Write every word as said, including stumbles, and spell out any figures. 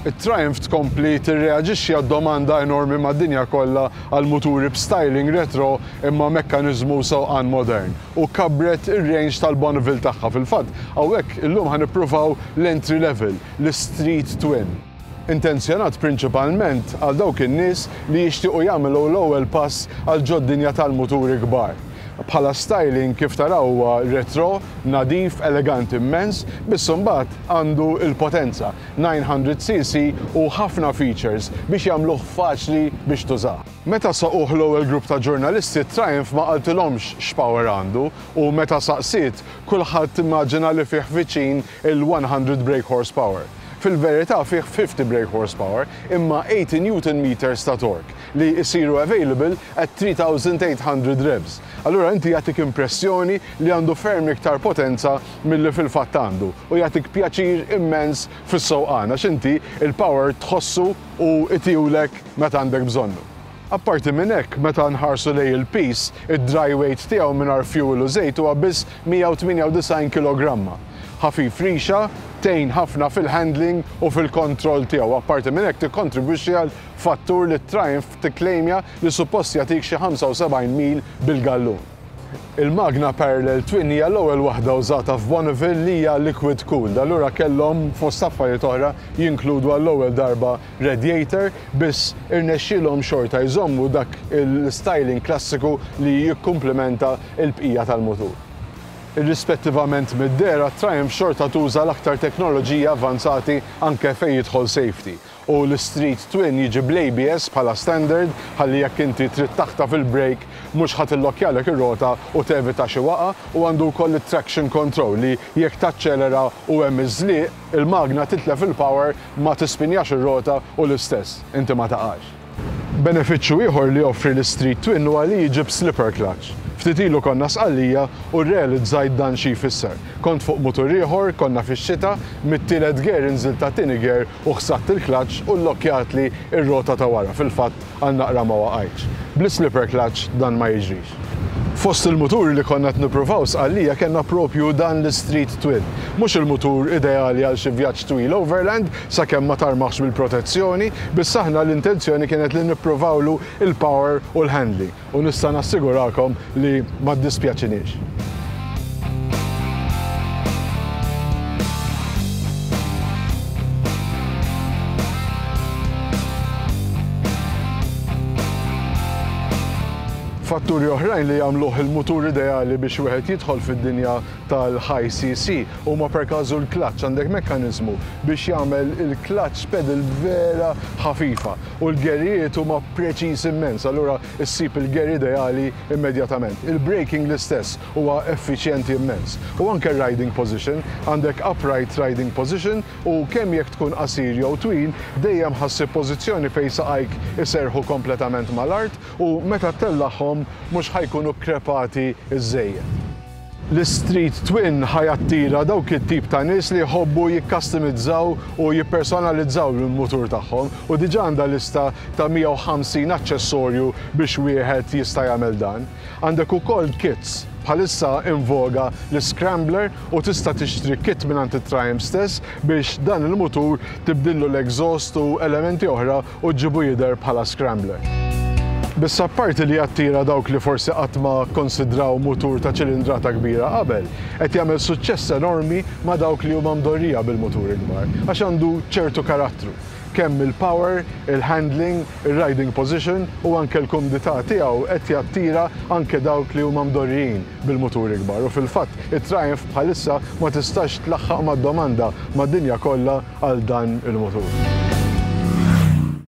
It-Triumph tkompli tirreaġixxi għad-domanda enormi mad-dinja kollha għal muturi b'styling retro imma mekkaniżmu sewqan modern u kabbret ir-range tal-Bonneville tagħha. Fil-fatt, hawnhekk illum ħa nippruvaw l-entry level, l-Street Twin. Intenzjonat prinċipalment għal dawk in-nies li jixtiequ jagħmlu l-ewwel pass għal ġod-dinja tal-muturi kbar. Bħala styling, kif taraw, huwa retro, nadif, eleganti immens, biss imbagħad għandu il-potenza tmien mija C C u ħafna features biex jagħmluh faċli biex tużah. Meta saquh l-ewwel grupp ta' ġurnalisti, Triumph ma qaltilhomx x'power għandu u meta saqsiet, kulħadd immaġina li fih viċin il-mija brake horsepower. Fil-verità fih ħamsin brake horsepower imma tmenin newton meters ta' torque li jisiru available at tliet elef u tmien mija revs. Allura inti jagħtik impressjoni li għandu ferm iktar potenza milli fil-fatt għandu u jagħtik pjaċir immens fis-sewqan għax inti il-power tħossu u itihulek meta għandek bżonnu. Apparti minn hekk, meta nħarsu lejn il-piż, id-dry weight tiegħu mingħajr fuel u żejt huwa biss mija u tmienja u disgħin kilogramma. Ħafif rixa, tgħin ħafna fil-handling u fil-kontroll tiegħu. Apparti minn hekk, tikkontribwixxi għal fattur li Triumph tikklejmja li suppost jagħtik xi ħamsa u sebgħin mil bil-gallun. Il-magna Parallel Twin hija l-ewwel waħda użata f'Bonneville li hija liquid cooled. Allura kellhom, fost affarijiet oħra, jinkludu għall-ewwel darba radiator, biss irnexxielhom xorta jżommu dak il-styling klassiku li jikkumplementa l-bqija tal-mutur. Irrispettivament mid-dehra, Triumph xorta tuża l-aktar teknoloġija avanzati anke fejn jidħol safety. U l-Street Twin jiġi bl-A B S bħala standard, ħalli jekk inti trid taħtaf il-brake mhux ħa tillokkjalek ir-rota u tevita xi waqa, u għandu wkoll it-traction control li jekk taċċelera u hemm iż-żliq, il-magna titlef il-power, ma tispinjax ir-rota u l-istess inti ma taqax. Benefiċċju ieħor li joffri l-Street Twin huwa li jiġi b'slipper clutch. Ftit ilu konna Sqallija u realizzajt dan xi jfisser. Kont fuq mutur ieħor, konna fix-xita, mit-tielet gear inżilt għat-tieni gear u ħsatt il-clutch u llokkjatli ir-rota ta' wara. Fil-fatt għal naqra ma waqajtx. Bl-slipper clutch dan ma jiġrix. Fost il-muturi li konna nippruvaw Sqallija kellna propju dan l-Street Twin. Mhux il-mutur ideali għal xi vjaġġ twil overland sakemm ma tarmaħx bil-protezzjoni, biss aħna l-intenzjoni kienet li nippruvawlu il-power u l-handling. U nista' nassigurakom li ma ddispjaċiniex. Fatturi oħrajn li jagħmluh il-mutur ideali biex wieħed jidħol fid-dinja tal-high C C huma per każu l-clutch. Għandek mekkaniżmu biex jagħmel il-clutch pedal vera ħafifa u l-gerijiet huma preċiż immens, allura issib il-ger ideali immedjatament. Il-braking l-istess, huwa effiċjenti immens. U anke riding position, għandek upright riding position u kemm jekk tkun qasir jew twil, dejjem ħa ssib pożizzjoni fejn saqajk iserħu kompletament mal-art u meta ttellagħhom mhux ħa jkunu krepati iż-żejjed. L-Street Twin ħa jattira dawk it-tip ta' nies li jħobbu jikkastomizzaw u jippersonalizzaw il-mutur tagħhom u diġà għandha lista ta' mija u ħamsin aċċessorju biex wieħed jista' jagħmel dan. Għandek ukoll kits, bħalissa in voga l-Scrambler, u tista' tixtri kit minn it-Triumph stess biex dan il-mutur tibdillu l-exhaust u elementi oħra u ġġibu jidher bħala Scrambler. Biss apparti li jattira dawk li forsi qatt ma konsidraw mutur ta' ċilindrata kbira qabel, qed jagħmel suċċess enormi ma' dawk li huma mdorrija bil-muturi kbar, għax għandu ċertu karattru. Kemm il-power, il-handling, il-riding position u anke l-kumdità tiegħu qed jattira anke dawk li huma mdorrijin bil-muturi kbar. U fil-fatt it-Triumph bħalissa ma tistax tlaħħaq mad-domanda mad-dinja kollha għal dan il-mutur.